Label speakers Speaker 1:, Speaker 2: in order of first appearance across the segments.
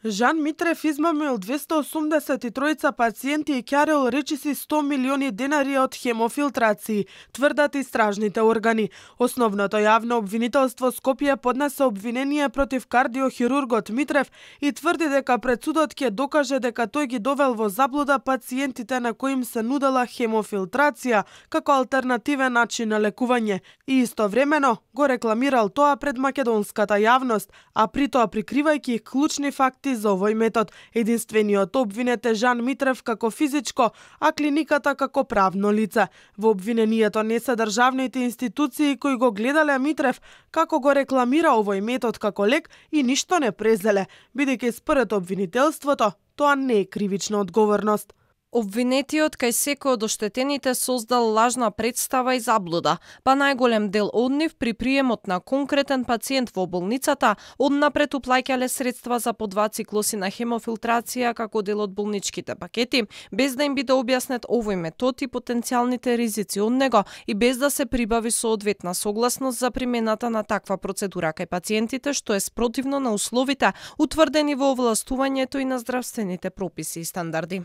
Speaker 1: Жан Митрев измамил 283 пациенти и ќарел речиси 100 милиони денари од хемофилтрации, тврдат истражните органи. Основното јавно обвинителство Скопје поднесе обвинение против кардиохирургот Митрев и тврди дека пред судот ќе докаже дека тој ги довел во заблуда пациентите на кои им се нудела хемофилтрација како алтернативен начин на лекување и истовремено го рекламирал тоа пред македонската јавност, а при тоа прикривајќи клучни факти за овој метод. Единствениот обвинет е Жан Митрев како физичко, а клиниката како правно лице. Во обвинението не се државните институции кои го гледале Митрев како го рекламира овој метод како лек и ништо не презеле, бидејќи според обвинителството тоа не е кривична одговорност.
Speaker 2: Обвинетиот кај секој од оштетените создал лажна представа и заблуда, па најголем дел од нив при приемот на конкретен пациент во болницата однапред уплаќале средства за по 2 циклуси на хемофилтрација како дел од болничките пакети, без да им биде објаснет овој метод и потенцијалните ризици од него и без да се прибави соодветна согласност за примената на таква процедура кај пациентите, што е спротивно на условите утврдени во овластувањето и на здравствените прописи и стандарди.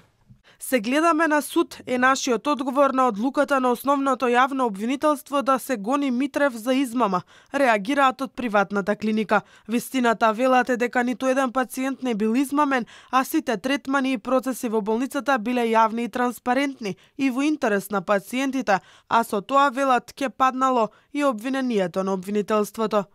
Speaker 1: Се гледаме на суд е нашиот одговор на одлуката на основното јавно обвинителство да се гони Митрев за измама, реагираат од приватната клиника. Вистината велат е дека ниту еден пациент не бил измамен, а сите третмани и процеси во болницата биле јавни и транспарентни и во интерес на пациентите, а со тоа велат ќе паднало и обвинението на обвинителството.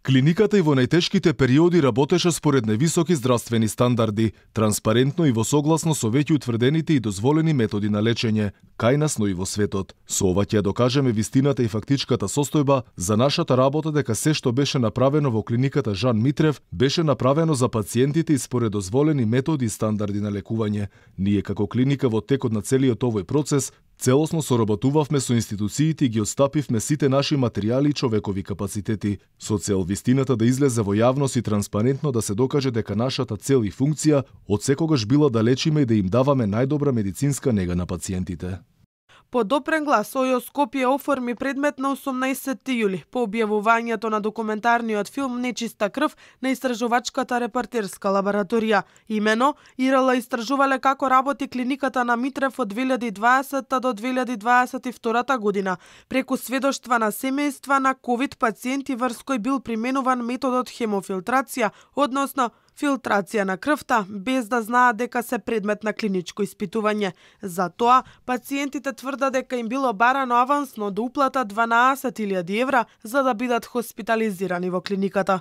Speaker 3: Клиниката и во најтешките периоди работеше според највисоки здравствени стандарди, транспарентно и во согласно со веќе утврдените и дозволени методи на лечење, кај нас, но и во светот. Со ова ќе докажеме вистината и фактичката состојба за нашата работа дека се што беше направено во клиниката Жан Митрев беше направено за пациентите и според дозволени методи и стандарди на лекување. Ние како клиника во текот на целиот овој процес целосно соработувавме со институциите и ги отстапивме сите наши материјали и човекови капацитети, со цел вистината да излезе во јавност и транспарентно да се докаже дека нашата цел и функција од секогаш била да лечиме и да им даваме најдобра медицинска нега на пациентите.
Speaker 1: По допрен глас, ОЈО Скопје оформи предмет на 18 јули по објавувањето на документарниот филм Нечиста крв на истражувачката репортерска лабораторија. Имено, ИРЛ истражувале како работи клиниката на Митрев од 2020 до 2022 година, преку сведоштва на семејства на ковид пациенти врз кои бил применуван методот хемофилтрација, односно филтрација на крвта, без да знаат дека се предмет на клиничко испитување. За тоа, пациентите тврдат дека им било барано авансно да уплатат 12.000 евра за да бидат хоспитализирани во клиниката.